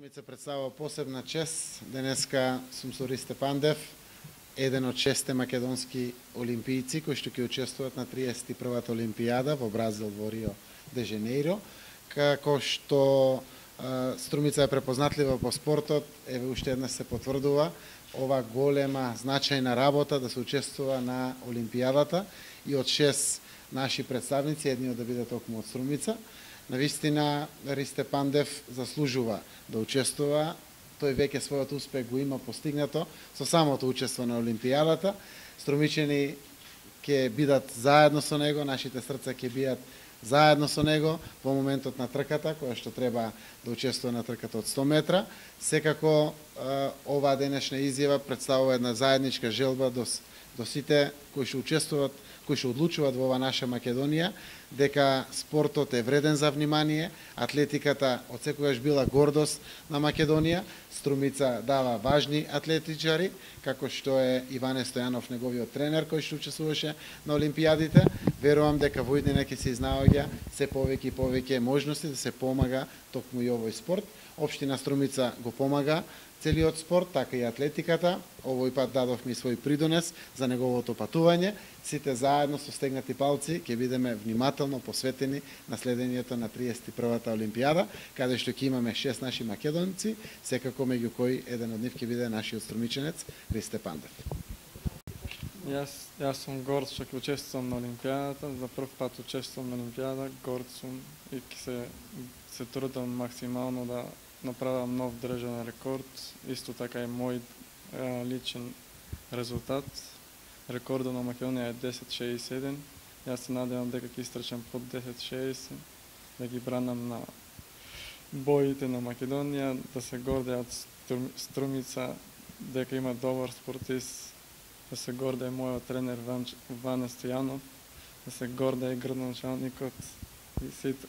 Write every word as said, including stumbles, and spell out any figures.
Струмица представува посебна чест. Денеска сум со Ристе Пандев, еден од шесте македонски олимпијци кои што ќе учествуваат на триесет и првата олимпијада во Бразил во Рио де Женеиро. Како што а, Струмица е препознатлива по спортот, еве уште еднаш се потврдува ова голема значајна работа да се учествува на олимпијадата и од шест наши представници, едниот да биде токму од Струмица. Навистина, Ристе Пандев заслужува да учествува. Тој веќе својот успех го има постигнато со самото учество на олимпијадата. Струмичени ќе бидат заедно со него, нашите срца ќе бидат заедно со него во моментот на трката, која што треба да учествува на трката од сто метра. Секако, оваа денешна изјава представува една заедничка желба до, до сите кои што учествуваат, кои што одлучуваат во ова наша Македонија, дека спортот е вреден за внимание, атлетиката од секогаш била гордост на Македонија, Струмица дава важни атлетичари, како што е Иване Стојанов, неговиот тренер, кој што учествуваше на олимпијадите. Верувам дека во иднина ќе се изнаоѓа се повеќе и повеќе можности да се помага токму и овој спорт. Општина Струмица го помага целиот спорт, така и атлетиката. Овој пат дадовме и свој придонес за неговото патување. Сите заедно со стегнати палци ќе бидеме внимателно посветени на следењето на триесет и првата олимпијада, каде што ќе имаме шест наши македонци, секако меѓу кои еден од нив ќе биде нашиот струмиченец Ристе Пандев. Јас, јас сум горд што ќе учествувам на олимпијадата, за прв пат учествувам на олимпијада, горд сум и ќе се, се трудам максимално да направам нов државен рекорд, исто така и мој е, личен резултат. Рекордот на Македонија е десет шеесет и седум. Јас се надевам дека ќе истрчам под десет шеесет, да ги бранам на боите на Македонија, да се гордеат Струмица, дека има добар спортист, да се гордее мојот тренер Ване Стојанов, да се гордее градоначалникот и сите.